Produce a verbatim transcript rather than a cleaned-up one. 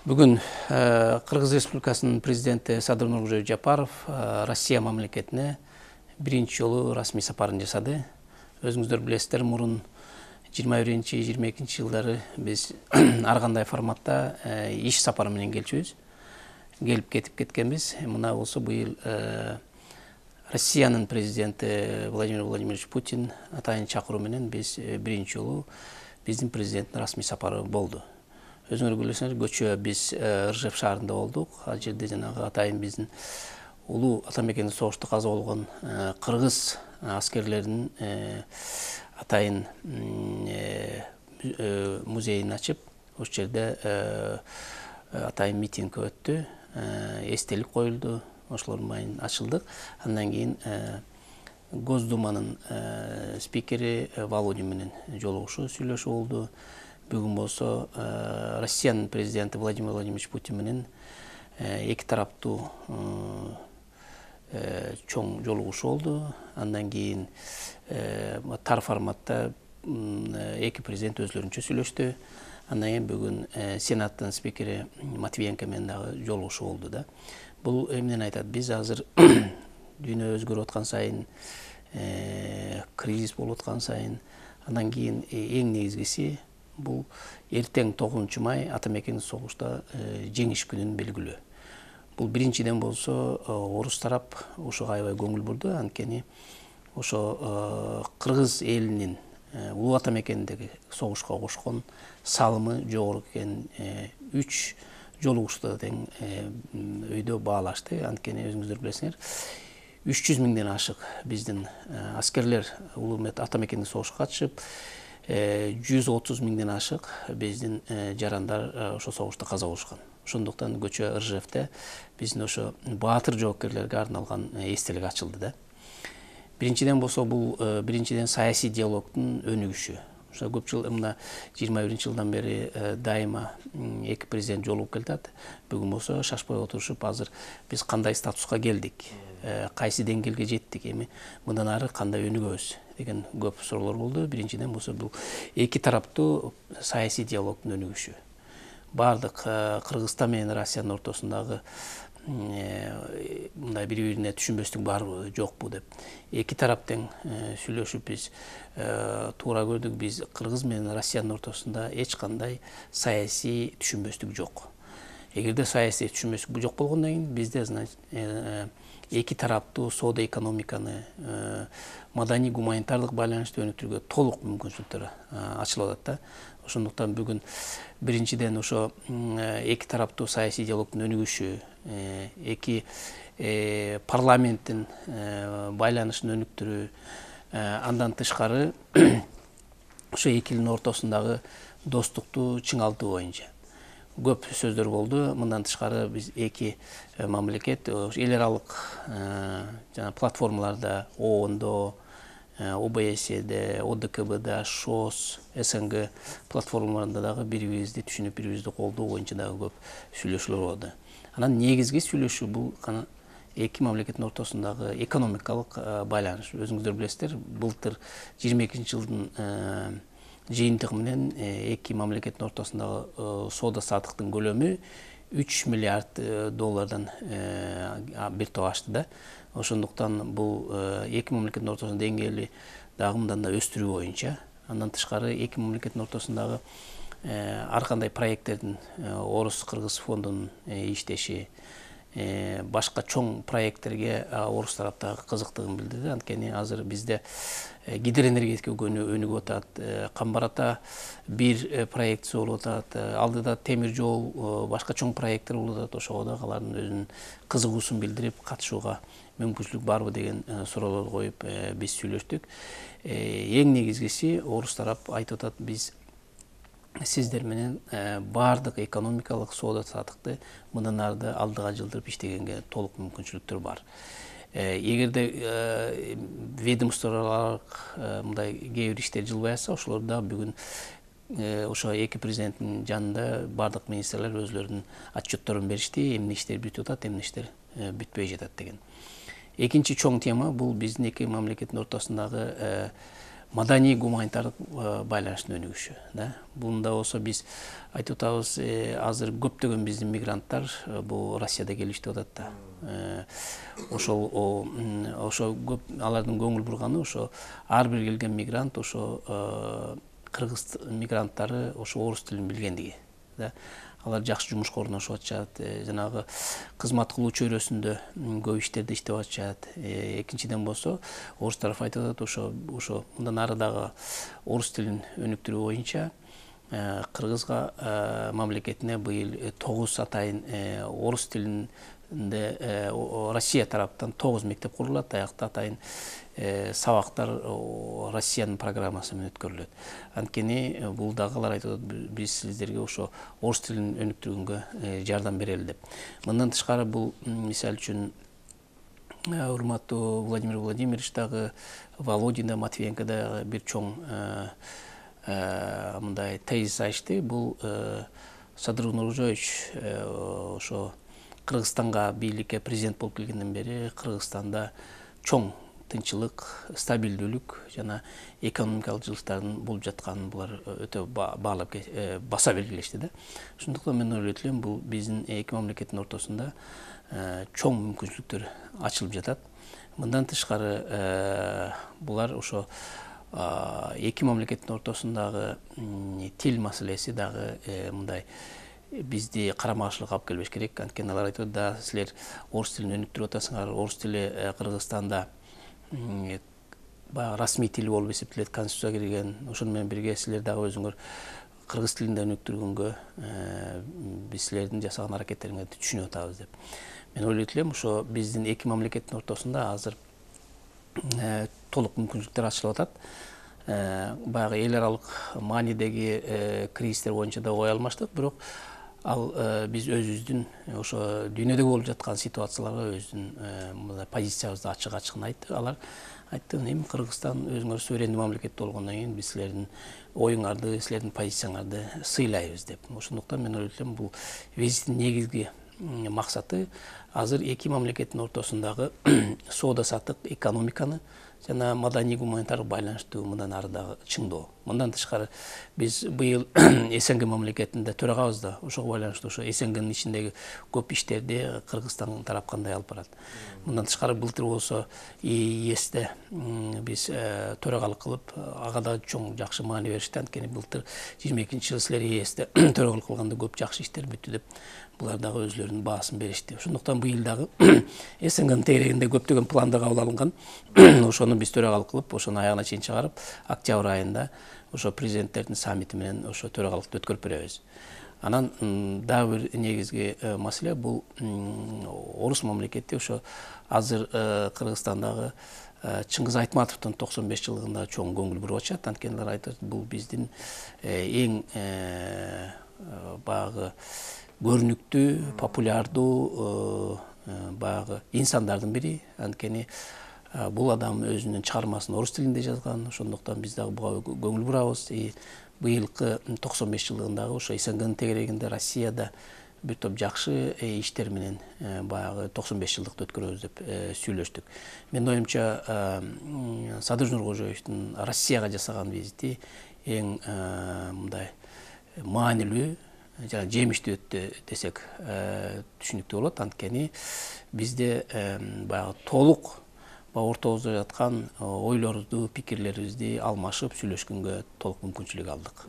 Бүгүн Кыргыз Республикасынын президенти Садыр Нуркожоевич Жапаров Россия мамлекетине биринчи жолу расмий сапарын жасады. Өзүңүздөр билесиздер, мурун жыйырма биринчи жыйырма экинчи жылдары биз ар кандай форматта иш сапары менен келчүбүз. Келип кетип кеткенбиз. Мына болсо быйыл Россиянын президенти Владимир Владимирович Путин атайын чакыруу менен биз биринчи жолу биздин президенттин расмий сапары болду. Өзүңөр билесиңер, көчө биз Ржев шаарында болдук. Ал жерде жанагы атайын биздин улуу ата мекенде согушта каза болгон кыргыз аскерлеринин атайын музейин ачып, ошол жерде атайын митинг өттү, эстелик коюлду, ошолордун майын ачылдык. Андан кийин Госдуманын спикери Володин менен жолугушуу, сүйлөшүү болду. Бүгүн болсо Россиянын президенти Владимир Владимирович Путин менен эки тараптуу чоң жолугушуу болду. Андан кийин тар форматта эки президент өзлөрүнчө сүйлөштү. Андан кийин бүгүн Сенаттын спикери Матвиенко менен дагы жолугушуу болду да. Бул эмнени айтат? Биз азыр дүйнө өзгөрүп аткан сайын, кризис болуп аткан сайын, андан кийин эң негизгиси бул эртең тогузунчу май ата мекендик согушта жеңиш күнүн белгилөө. Бул биринчиден болсо орус тарап ошого аябай көңүл бурду, анткени ошо кыргыз элинин улуу ата мекендеги согушка кошкон салымы жогору экенин үч жолугушууда тең өйдө баалашты. Анткени өзүңүздөр билесиңер, үч жүз миңден ашык биздин аскерлер улуу ата мекендик согушка катышып, жүз отуз миңден ашык биздин жарандар ошо согушта каза болушкан. Ошондуктан көчө Ржевде биздин ошо баатыр жоокерлерге арналган эстелик ачылды да. Биринчиден болсо бул биринчиден саясий диалогдун өнүгүшү. Ошо көп жыл мына жыйырма биринчи жылдан бери дайыма эки президент жолугуп келатат. Бүгүн болсо шашпай отурушуп, азыр биз кандай статуска келдик, кайсы деңгээлге жеттик, эми мындан ары кандай өнүгөбүз деген көп суроолор болду. Биринчиден болсо бул эки тараптуу саясий диалогдун өнүгүшү. Бардык Кыргызстан менен Россиянын ортосундагы мындай бири-бирине түшүнбөстүк барбы, жокпу деп эки тарап тең сүйлөшүп биз туура көрдүк. Биз Кыргыз менен Россиянын ортосунда эч кандай саясий түшүнбөстүк жок. Эгерде саясий түшүнбөстүк жок болгондон кийин бизде эки тараптуу соода экономиканы, маданий гуманитардык байланышты өнүктүрүүгө толук мүмкүнчүлүктөр ачылып атат да. Ошондуктан бүгүн биринчиден ошо эки тараптуу саясий диалогдун өнүгүшү, эки парламенттин байланышын өнүктүрүү, андан тышкары ошо эки элдин ортосундагы достукту чыңалтуу боюнча көп сөздөр болду. Мындан тышкары биз эки мамлекет эл аралык жана платформаларда, ООНдо, ОБСЕде, ОДКБда, ШОС, СНГ платформаларында дагы бири-бирибизди түшүнүп, бири-бирибизди колдоо боюнча дагы көп сүйлөшүүлөр болду. Анан негизги сүйлөшүү бул эки мамлекеттин ортосундагы экономикалык байланыш. Өзүңүздөр билесиздер, былтыр жыйырма экинчи жылдын жыйынтыгы менен эки мамлекеттин ортосундагы соода саттыктын көлөмү үч миллиард доллардан бир топ ашты да. Ошондуктан бул эки мамлекеттин ортосундагы деңгээли дагы мындан да өстүрүү боюнча, андан тышкары эки мамлекеттин ортосундагы ар кандай проекттердин орус-кыргыз фондунун иштеши, башка чоң проекттерге орус тараптагы кызыктыгын билдирди. Анткени азыр бизде гидроэнергетика өнүгүп атат, Камбар-Ата бир проектиси болуп атат, алдыда темир жол, башка чоң проекттер болуп атат. Ошого да алардын өзүнүн кызыгуусун билдирип, катышууга мүмкүнчүлүк барбы деген суроолорду коюп биз сүйлөштүк. Эң негизгиси орус тарап айтып атат, биз сиздер менен баардык экономикалык соода саттыкты мындан ары алдыга жылдырып иштегенге толук мүмкүнчүлүктөр бар. Эгерде ведомстволордук мындай кээ бир иштер жылбай атса, ошолор да бүгүн ошо эки президенттин жанында бардык министрлер өзлөрүнүн отчетторун беришти, эмне иштер бүтүп атат, эмне иштер бүтпөй жатат деген. Экинчи чоң тема бул биздин эки мамлекеттин ортосундагы маданий гуманитардык байланыштын өнүгүшү да. Бунда болсо биз айтып атабыз, азыр көптөгөн биздин мигранттар бул Россияда келиштип атат да. Ошол ошо көп алардын көңүл бурганы ошо ар бир келген мигрант ошо кыргыз мигранттары ошо орус тилин билгендиги да. Алар жакшы жумушка орношуп атышат, жанагы кызмат кылуу чөйрөсүндө көп иштерди иштеп атышат. Экинчиден болсо орус тарафы айтып атат, ошо ошо мындан ары дагы орус тилин өнүктүрүү боюнча кыргызга мамлекетине быйыл тогуз атайын орус тилинде Россия тараптан тогуз мектеп курулат, аякта атайын сабактар Россиянын программасы менен өткөрүлөт. Анткени бул дагы алар айтып атат, биз сиздерге ошо орус тилин өнүктүргөнгө жардам берели деп. Мындан тышкары бул мисалы үчүн урматтуу Владимир Владимирович дагы, Володин да, Матвиенко да бир чоң мындай тезис айтышты. Бул Садыр Нуржоевич ошо Кыргызстанга бийликке президент болуп келгенден бери Кыргызстанда чоң тынчылык, стабилдүүлүк жана экономикалык жылыштардын болуп жатканын булар өтө баалап баса белгилешти да. Ошондуктан мен ойлойт элем, бул биздин эки мамлекеттин ортосунда чоң мүмкүнчүлүктөр ачылып жатат. Мындан тышкары булар ошо эки мамлекеттин ортосундагы тил маселеси дагы мындай бизди карама каршылыкка алып келбеш керек. Анткени алар айтат да, силер орус тилин өнүктүрүп атасыңар, орус тили Кыргызстанда баягы расмий тил болуп эсептелет, конституцияга кирген. Ошону менен бирге силер дагы өзүңөр кыргыз тилинде өнүктүргөнгө биз силердин жасаган аракеттериңерди түшүнүп атабыз деп. Мен ойлойт элем, ошо биздин эки мамлекеттин ортосунда азыр толук мүмкүнчүлүктөр ачылып атат. Баягы эл аралык маанидеги кризистер боюнча да ой алмаштык, бирок ал биз өзүбүздүн ошо дүйнөдө болуп жаткан ситуацияларга өзүнүн позициябызды ачык ачыгын айтты. Алар айтты, эми Кыргызстан өзүңөр суверендүү мамлекет болгондон кийин биз силердин оюңарды, силердин позицияңарды сыйлайбыз деп. Ошондуктан мен ойлойт элем, бул визиттин негизги максаты азыр эки мамлекеттин ортосундагы соода саттык, экономиканы жана маданий гуманитардык байланышты мындан ары дагы чыңдоо. Мындан тышкары биз быйыл СНГ мамлекетинде төрагабыз да, ошого байланыштуу ошо СНГнын ичиндеги көп иштерди Кыргызстан тарап кандай алып барат. Мындан тышкары былтыр болсо ЕСте биз төрагалык кылып, ага да чоң жакшы маани беришти. Анткени былтыр жыйырма экинчи жылы силер ЕСте төрагалык кылганда көп жакшы иштер бүттү деп булар дагы өзлөрүнүн баасын беришти. Ошондуктан быйыл дагы СНГнын тегерегинде көптөгөн пландар кабыл алынган. Ошону биз төрагалык кылып, ошону аягына чейин чыгарып, октябрь айында ошо президенттердин саммити менен ошо төрагалыкты өткөрүп беребиз. Анан дагы бир негизги маселе бул орус мамлекети ошо азыр Кыргызстандагы Чыңгыз Айтматовдун токсон беш жылдыгында чоң көңүл буруп атышат. Анткени алар айтат, бул биздин эң баягы көрүнүктүү, популярдуу баягы инсандардын бири. Анткени бул адам өзүнүн чыгармасын орус тилинде жазган. Ошондуктан биз дагы буга көңүл бурабыз. Быйылкы токсон беш жылдыгындагы ошо СНГнын тегерегинде Россияда бир топ жакшы иштер менен баягы токсон беш жылдыкты өткөрөбүз деп сүйлөштүк. Менин оюмча Садыр Нуркожоевдун Россияга жасаган визити эң мындай маанилүү жана жемиштүү өттү десек түшүнүктүү болот. Анткени бизде баягы толук ортобузда жаткан ойлорубузду, пикирлерибизди алмашып сүйлөшкөнгө толук мүмкүнчүлүк алдык.